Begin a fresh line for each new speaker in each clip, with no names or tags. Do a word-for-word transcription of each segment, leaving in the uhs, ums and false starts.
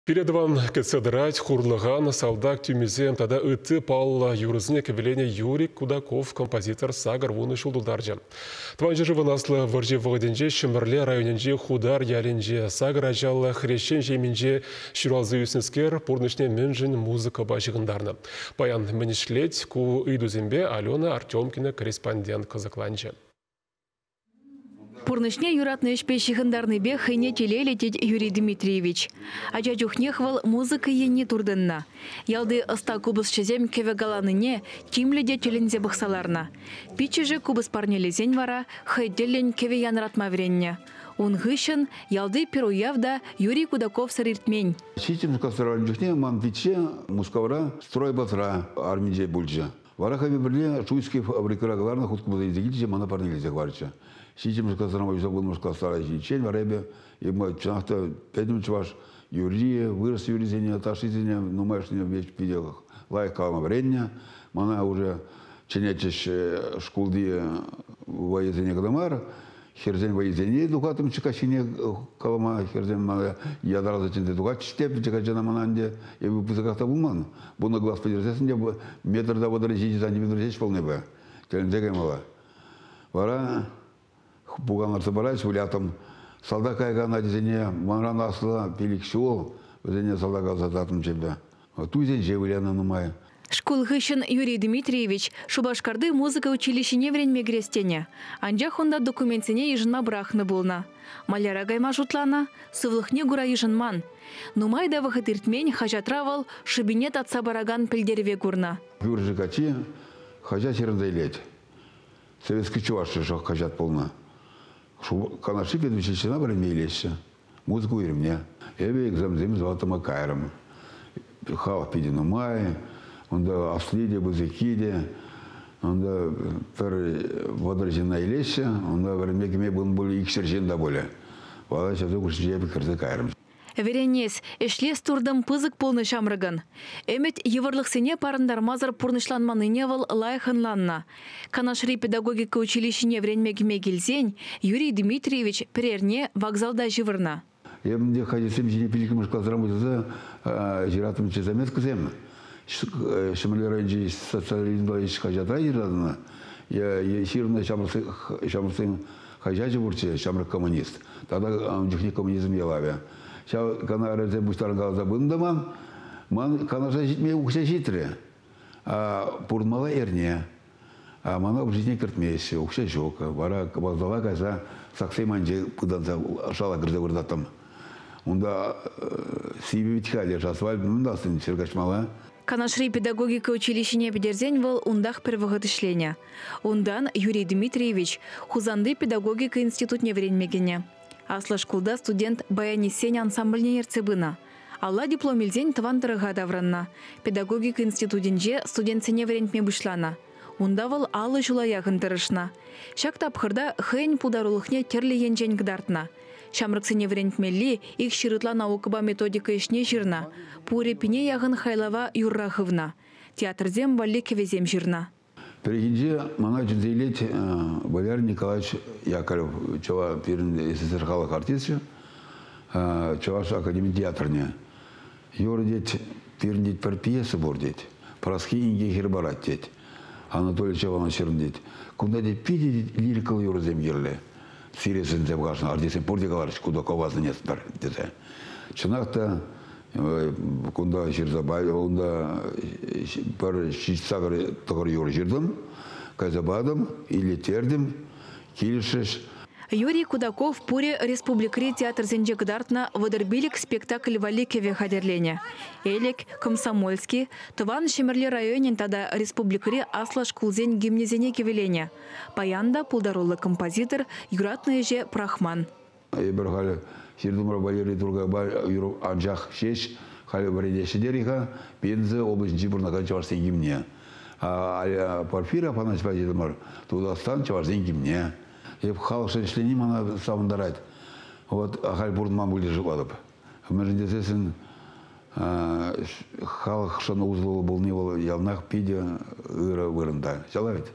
Пире тӑван кӗтсе тӑрать хурлӑхан, салтак тӳмисем тата ытти паллӑ юрӑсене кӗвӗленӗ Юрий Кудаков композитор сакӑр вунӑ ҫул тултарчӗ. Тӑван ҫӗршывӑн Аслӑ вӑрҫи вӑхӑтӗнче Ҫӗмӗрле районӗнчи Хутар ялӗнче сакӑр ачаллӑ хресчен ҫемйинче ҫуралса ӳснӗскер пурнӑҫне мӗншӗн музыкӑпа ҫыхӑнтарнӑ? Паян мӗн ӗҫлет? Ку ыйтусемпе Алена Артемкина корреспондент кӑсӑкланчӗ.
Пурнӑҫне юратнӑ ӗҫпе ҫыхӑнтарнипе хӑйне телейлӗ тет Юрий Дмитриевич. Ача чухнех вӑл музыка енне туртӑннӑ. Ялти ӑста купӑсҫӑсем кӗвӗ каланине тимлӗ те тӗлӗнсе пӑхса ларнӑ. Пиччӗшӗ купӑс парнелесен вара хӑй тӗллӗн кӗвӗ янӑратма вӗреннӗ. Ун хыҫҫӑн ялти пӗр уяв та Юрий Кудаковсӑр иртмен.
Ҫиччӗмӗш класра чухне ман пичче Мускавра стройбатра арминче пулчӗ. Вара хӑйпе пӗрле Шуйский фабрикӑра кӑларнӑ хут купӑс илсе килчӗ, мана парнелесе хӑварчӗ. Ҫиччӗмӗш класран пуҫласа вуннӑмӗш класра ҫитиччен вара эпӗ чӑнах та пӗтӗм чӑваш юрри, вырӑс юррисене, ташшисене нумайӑшне питӗ лайӑх калама вӗреннӗ. Мана уже чӗнетчӗҫ шкулти вӑйӑсене кӑна мар, хӗрсен вӑйӑсене тухаттӑм каҫхине калама, хӗрсем мана ятарласа чӗнсе тухатчӗҫ те, пӗчӗк ачана мана ӗнтӗ эпӗ пысӑках та пулман. Вунӑ класс пӗтерсессӗн те метр та вӑтӑр ҫичӗ сантиметр ҫеҫ пулнӑ эпӗ. Тӗлӗнсе каймалла. Вара пукан лартса парать, вылятӑм. Салтак каякан ачасене манран аслӑ пилӗк ҫул, вӗсене салтака ӑсататтӑм чӗпӗ. Туйсенче вылянӑ нумай.
Шкул хыҫҫӑн Юрий Дмитриевич Шупашкарти музыка училищине вӗренме кӗрес тенӗ. Анчах унта документсене йышӑнма пӑрахнӑ пулнӑ. Маляра кайма шутланӑ, сывлӑхне кура йышӑнман. Нумай та вӑхӑт иртмен хаҫатра вӑл шӑпине татса паракан пӗлтерӗве курнӑ.
Кӳршӗ каччи хаҫат ҫырӑнса илет. Советский чӑваш хаҫат пулнӑ. Канашри педучилищӗна вӗренме илеҫҫӗ. Музыка уйрӑмне. Эпӗ экзаменсем сдаваттӑма кайрӑм. Халӑх питӗ нумай, унта асли те, пысӑкки те. Унта пӗр вӑтӑр ҫынна илеҫҫӗ, унта вӗренме кӗме пулнӑ пулӗ, икҫӗр ҫын та пулӗ. Вара ҫавсем хушшинче эпӗ кӗрсе кайрӑм.
Вӗренес, ӗҫлес туртӑм пысӑк пулнӑ ҫамрӑкӑн. Ӗмӗт йывӑрлӑхсене парӑнтармасӑр пурнӑҫланманнине вӑл лайӑх ӑнланнӑ. Канашри педагогика училищине вӗренме кӗме килсен Юрий Дмитриевич пӗр эрне вокзалта ҫывӑрнӑ.
Эпӗ те хаҫатсем ҫине пиллӗкмӗш класран пуҫласа ҫыраттӑмччӗ заметкӑсем. Ҫӗмӗрле районӗнчи социализмла ӗҫ хаҫатра ҫыратнӑ. Ҫырнӑ ҫамрӑксен хаҫачӗ пурччӗ, «Ҫамрӑк коммунист». Тата ун чухне «Коммунизм ялавӗ». Ҫав канарсем пуҫтарӑнкаласа пынӑ та ман, ман Канаша ҫитме укҫа ҫитрӗ. Пурӑнмалла эрне. А мана общежитине кӗртмеҫҫӗ, укҫа ҫук. Вара вокзала кайса саксем айӗнче пытанса шала кӗрсе выртаттӑм. Унта сивӗ вӗт-ха, леш асфальт мӗн тӑвас ҫӗр каҫмалла.
Канашри педагогика училищине пӗтерсен вӑл унтах пӗр вӑхӑт ӗҫленӗ. Унтан Юрий Дмитриевич Хусанти педагогика институтне вӗренме кӗнӗ. Аслӑ шкулта студент баянистсен ансамбльне ертсе пынӑ. Алла диплом илсен тӑван тӑрӑха таврӑннӑ. Педагогика институтӗнче студентсене вӗрентме пуҫланӑ. Унта вӑл аллӑ ҫула яхӑн тӑрӑшнӑ. Ҫак тапхӑрта хӑйӗн пултарулӑхне тӗрлӗ енчен кӑтартнӑ. Ҫамрӑксене вӗрентмелли ик ҫӗр ытла наукӑпа методика ӗҫне ҫырнӑ. Пурӗ пине яхӑн хайлава юрра хывнӑ. Театрсем валли кӗвӗсем ҫырнӑ.
Пӗррехинче мана чӗнсе илет Валерий Николаевич Яковлев, чӑваш пирӗн С С С Р халӑх артисчӗ, Чӑваш академи театрне. Юрӑ тет, пирӗн тет пӗр пьеса пур тет. «Праски инке хӗр парать» тет. Анатолий Чаванов ҫырнӑ тет. Кунта тет питӗ лирикӑллӑ юрӑсем кирлӗ. Сире сӗнсе пӑхасшӑн, артистсем пурте каларӗҫ, Кудакова сӗнетпӗр тесе. Чӑнах та кунта ҫырса унта пӗр ҫич-сакӑр тӑхӑр юрӑ ҫыртӑм, кайса патӑм, илеттертӗм, килӗшрӗҫ.
Юрий Кудаков пурӗ республикӑри театрсенче кӑтартнӑ вӑтӑр пилӗк спектакль валли кӗвӗ хатӗрленӗ. Элӗк, Комсомольски, тӑван Ҫӗмӗрле районӗн тата республикӑри аслӑ шкулсен гимнӗсене кӗвӗленӗ. Паян та пултаруллӑ композитор юратнӑ ӗҫе пӑрахман.
Эпир халӗ ҫыртӑмӑр Валерий Туркайпа юрӑ анчах ҫеҫ халӗ вӗренеҫҫӗ терӗ-ха Пенза облаҫӗнчи пурӑнакан чӑвашсен гимне. Порфирий Афанасьевпа ҫыртӑмӑр Тутарстан чӑвашсен гимне. Эп халӑхшӑн ӗҫлени мана савӑнтарать. Вот ахаль пурӑнман пуль тесе шутлатӑп. Мӗншӗн тесессӗн халӑхшӑн усӑллӑ пулни вӑл яланах питӗ ырӑ вырӑнта. Ҫапла вӗт?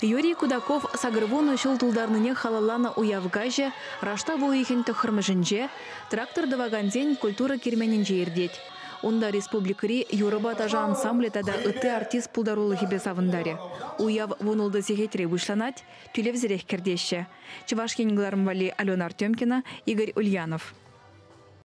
Юрий Кудаков сакӑр вунӑ ҫул тултарнине халалланӑ уяв каҫӗ раштав уйӑхӗн тӑххӑрмӗшӗнче трактор тӑвакансен культура керменӗнче иртет. Унта республикӑри юрӑпа ташӑ ансамблӗ тата ытти артист пултарулӑхӗпе савӑнтарӗ. Уяв вунултӑ сехетре пуҫланать, тӳлевсӗрех кӗртеҫҫӗ. Чӑваш Ен кӑларӑм валли Алена Артемкина, Игорь Ульянов.